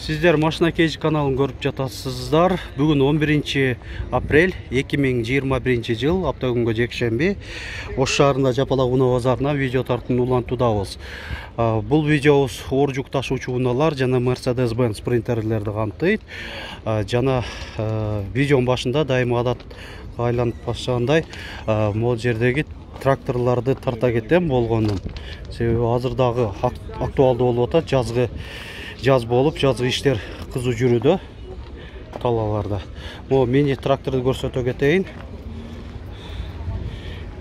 Сиздер Машина Кейж каналын көрүп жатасыздар. Бүгүн 11 апрель 2021 жыл, апта күнгө жекшемби. Ош шаарында Жапалак унаа базарына видео тартууну улантуудабыз. Бул видеобуз оор жүк ташуучу унаалар жана Mercedes-Benz принтерлерди камтыйт. Жана видеонун башында дайыма адатка айланып башлагандай, могул жердеги тракторларды тарта кетем болгонун. Себеби азырдагы актуалдуу болуп атат, жаз болуп, жазгы иштер кызуу жүрүүдө талааларда. Могу мини тракторду көрсөтө кетейин.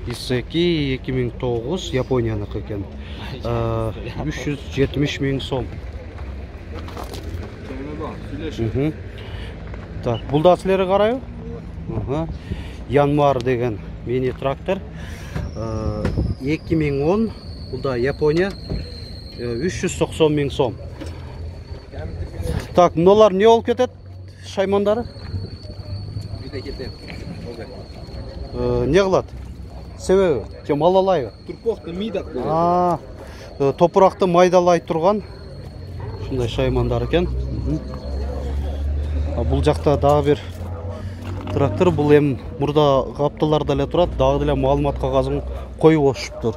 Исеки 2009 Японияныкы экен. 370 000 сом. Так, бул да силерге карайбы? Янмар деген мини трактор. 2010, бул да Япония. 390 000 сом. Так, мыналар не болуп кетет? Шаймандары? Не кылат? Себеби? Же малалайбы? Турпокту мыйдап. Топуракты майдалай турган ушундай шаймандар экен. Бул жакта дагы бир трактор, бул эми мурда капталарда эле турат, дагы деле маалымат кагазын коюп отуруптур.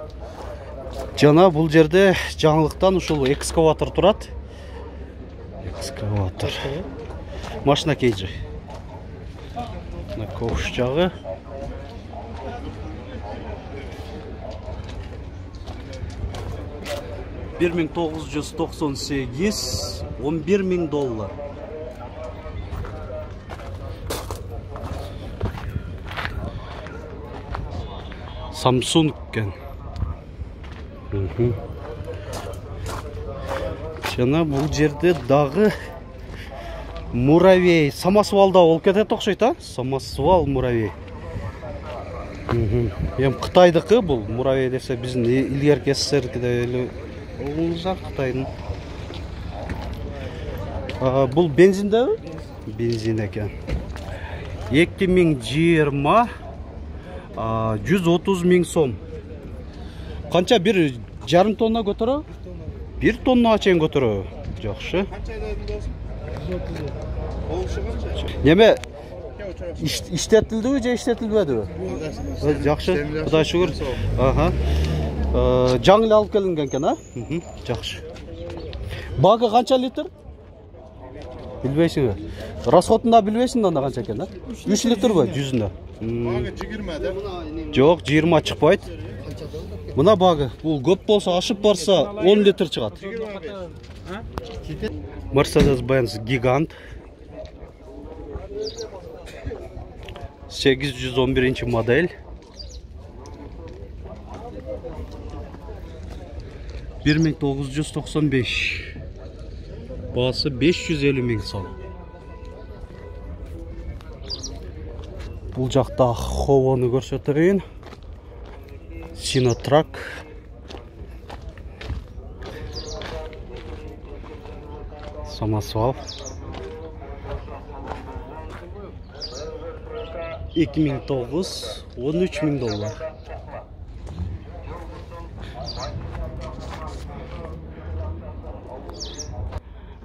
Жана бул жерде жаңылыктан ушул экскаватор турат. Экскаватор. Машина Кейджи. На ковш жагы. $1998, $11 000. Samsung экен. Жана бул жерде дагы муравей, самосвалда болуп кетет окшойт, самосвал муравей. Эми Кытайдыкы бул муравей десе, биздин илгерки СССРдикиде эле болгонузак Кытайдын. Бул бензиндеби? Бензин экен. 2020 130 000 сом. Канча, 1,5 тонна көтөрө? 1 тонна чейин көтөрө. Жакшы. Неме иштетилдиби же иштетилбедиби? Жакшы. Кудай шүгүр. Жаңы эле алып келинген экен, Жакшы. Багы канча литр? Билбейсиңби? Расходун да билбейсиң анда канча экен, 3 литрби 100-дө? Багы 20 да? Жок, 20 чыкпайт. Мына багы, бул көп болсо, ашып барса 10 литр чыгат. Mercedes-Benz Gigant 811 модель. 1995. Баасы 550 000 сом. Бул жакта Ховону көрсөтөйүн. Синотрак. Самосвал. 2009, $13 000.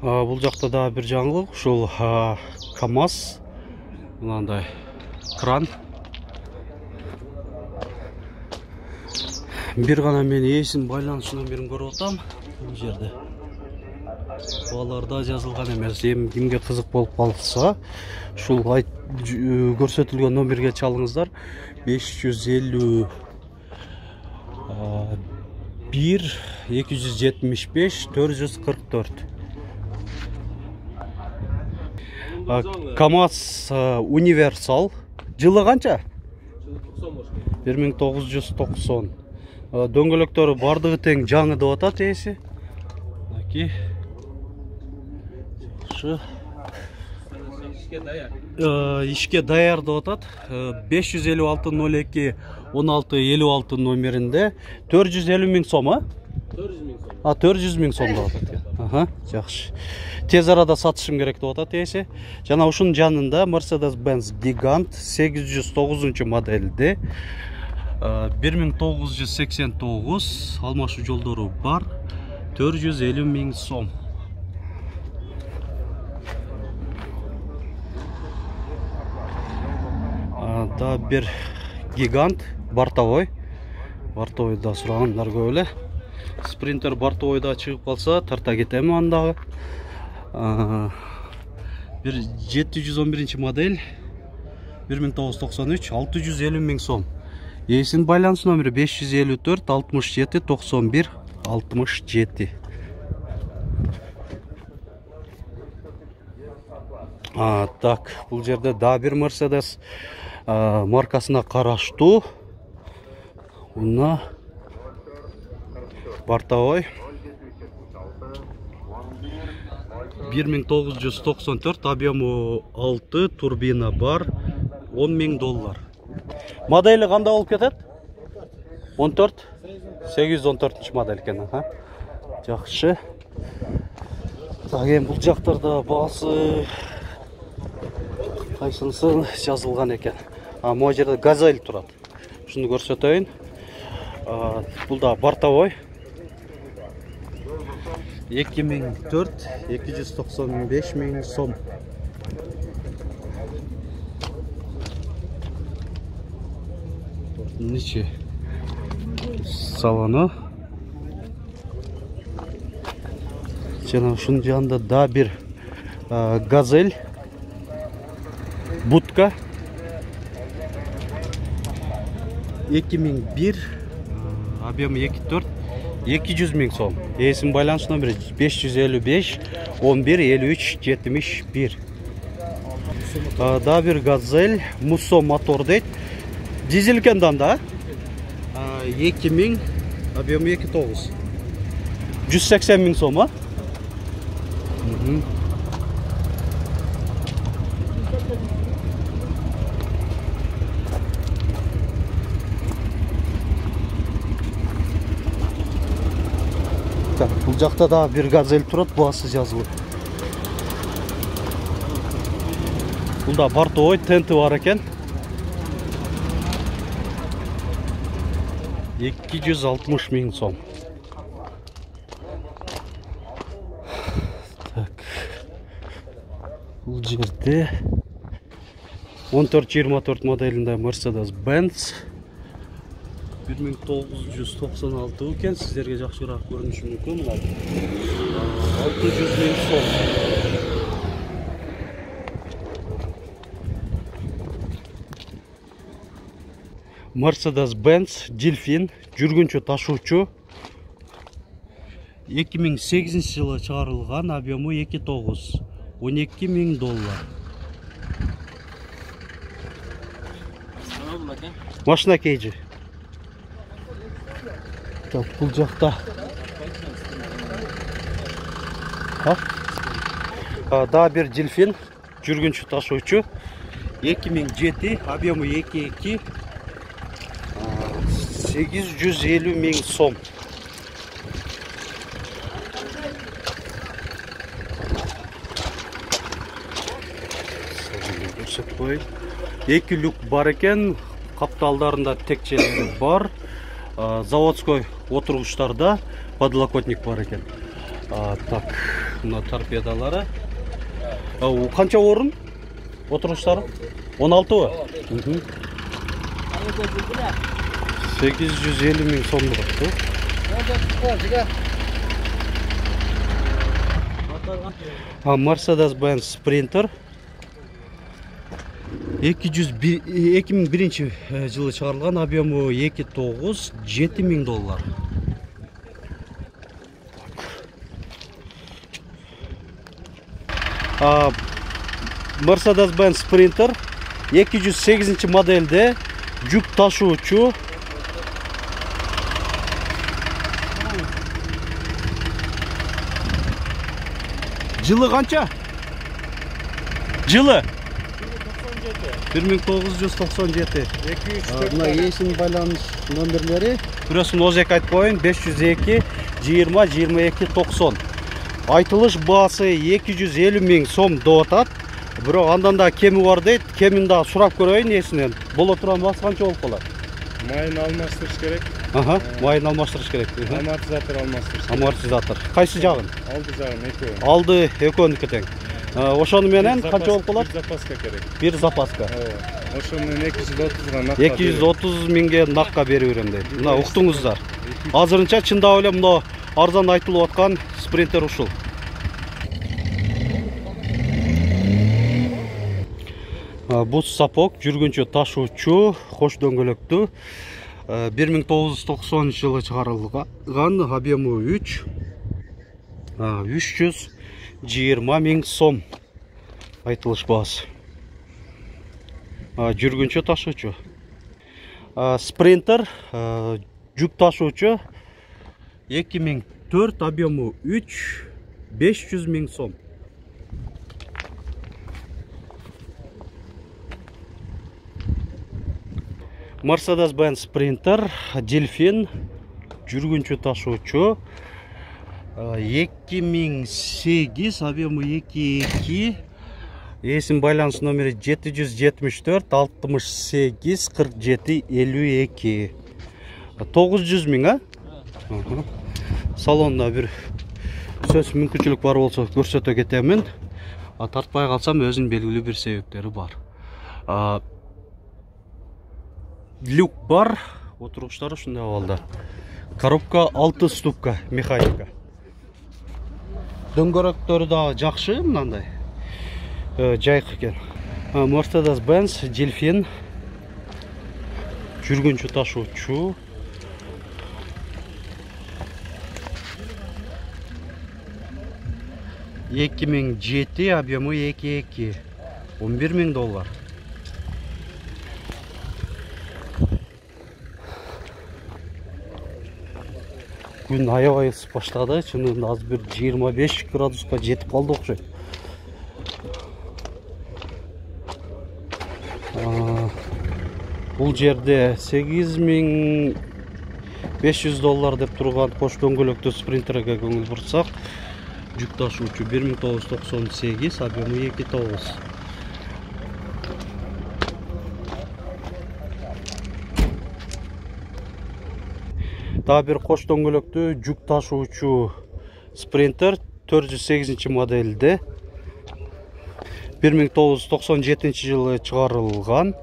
Бул жакта да бир жаңылык, ушул КамАЗ, мынандай кран. Бир гана мен ээсин байланыш номерин көрүп атам бул жерде. Баларда жазылган эмес. Эми кимге кызык болуп калса, ушул көрсөтүлгөн номерге чалыңыздар. 551 275 444. КамАЗ универсал. Жылы канча? 1990. Дөңгөлөктөрү бардыгы тең, жаңы деп атат ээси. Ишке даяр деп атат. 556 02 16 56 номеринде 450 000 сом, 400 000 сом деп атат. Жакшы. Тез арада сатышым керек деп атат ээси. Жана ушунун жанында Mercedes-Benz Gigant 809 модельде 1989 алмашуу жолдору бар, 450 000 сом. да бир гигант бортовой. Бортовойда сурагандар көп эле. Спринтер бортовойда чыгып калса тарта кетем андагы. Bir 711 модель 1993 650 миң сом. Эсин байланыш номери 554 67 91 67. Так, бул жерде да бир Mercedes маркасына караштуу. Уна бортовой 1994, объему 6, турбина бар, 10 миң доллар. Модели кандай болуп кетет? 14? 814 модель экен, Жакшы. Так, эми бул жактарда баасы кайсынысы жазылган экен. Могу жерде газель турат. Шуну көрсөтөйүн. Бул да бортовой. 2004 295 миң сом. Ниче салону. Жана ушунун жанында да бир газель будка 2001, объемы 2.4, 200 миң сом. Эсин байланыш номери 555 11 53 71. Да бир газель Musso мотор дейт. Дизель экен да? 2000, объемы 2.9. 180 миң сом, Так, бул жакта да бир газель турат, баасы жазылып. Бул да бортовой, тенти бар экен. 260 миң сом. Так. Бул жерде 1424 моделинде Mercedes-Benz 1996 экен, сиздерге жакшыраак көрүнүшү мүмкүн. 600 миң сом. Mercedes-Benz Delfin жүргүнчү ташуучу 2008 жылы чыгарылган, объему 2.9, 12 миң доллар. Машина кейжи. Так, бул жакта да бир Delfin жүргүнчү ташуучу 2007, объему 2.2, 850 миң сом. Эки люк бар экен, капталдарында текчелери бар. Заводской отургучтарда подлокотник бар экен. Так, мына торпедалары. Канча орун? Отургучтары? 16-бы? 850 миң сом турат. Mercedes-Benz Sprinter 2001 жылы чыгарылган, объему 2.9, 7 миң доллар. Mercedes-Benz Sprinter 208 модельде жүк ташуучу. Жылы канча? Жылы 1997. Мына эсин байланыш номерлери. Бирөөсүн озек айтып коеюн, 502 20 22 90. Айтылыш баасы 250 миң сом деп атат. Бирок андан да кеми бар дейт. Кемин да сурап көрөйүн эсинен. Боло турган баасы канча болуп калат? Майын алмаштырыш керек. Майын алмаштырыш керек. Амортизатор алмаштырыш. Амортизатор. Кайсы жагын? Алды жагын экөө. Алды экөөнүкү тең. Ошону менен канча болуп калат? Bir запаска керек. Bir запаска. Ошо менен 230га накка. 230 миңге накка берип берем дейт. Мына уктуңуздар. Азырынча чындап эле мына арзан айтылып аткан спринтер ушул. Бус сапог жүргүнчө ташуучу, кош дөңгөлөктүү. 1990 жылы чыгарылган, объему 320 миң сом айтылыш баасы. Жүргүнчө ташуучу. Спринтер жүк ташуучу 2004, объему 500 миң сом. Mercedes-Benz Sprinter, Delfin, жүргүнчө ташуучу 2008, объему 2.2, эсин байланыш номери 774 68 47 52. 900 миң, Салонда бир сөз мүмкүнчүлүк бар болсо көрсөтө кетемин. Тартпай калсам өзүнүн белгилүү бир себептери бар. Люк бар, отургучтары ушундай абалда. Коробка 6 ступка механика. Дөңгөрөктөрү да жакшы, мындай. Жайкы экен. Mercedes-Benz Delfin жүргүнчө ташуучу. $2007, объему 2.2, $11 миң. Күн аябай ысып баштады, чынында азыр бир 25 градуска жетип калды окшойт. Бул жерде $8500 деп турган кош дөңгөлөктүү спринтерге көңүл бурсак, жүк ташуучу 1998, объему 2.9. Daha bir koş дөңгөлөктүү жүк ташуучу спринтер 408 модельде 1997 жылы чыгарылган.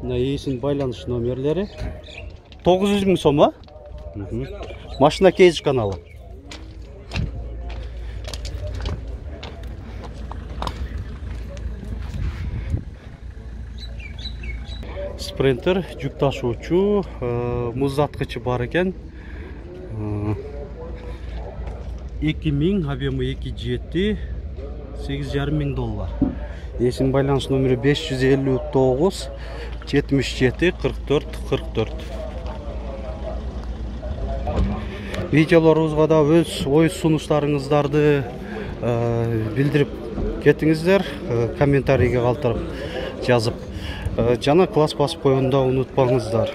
Эсин байланыш номерлери 900 миң сом. Машина кейдж каналы. Спринтер жүк ташуучу, муздаткычы бар экен. 2000, объему 2.7, $8,5 миң. Эсин байланыш номери 559 77 44 44. Видеолорубузга да өз ой сунуштарыңыздарды билдирип кетиңиздер, комментарийге калтырып жазып. Жана класс басып коюуну да унутпаңыздар.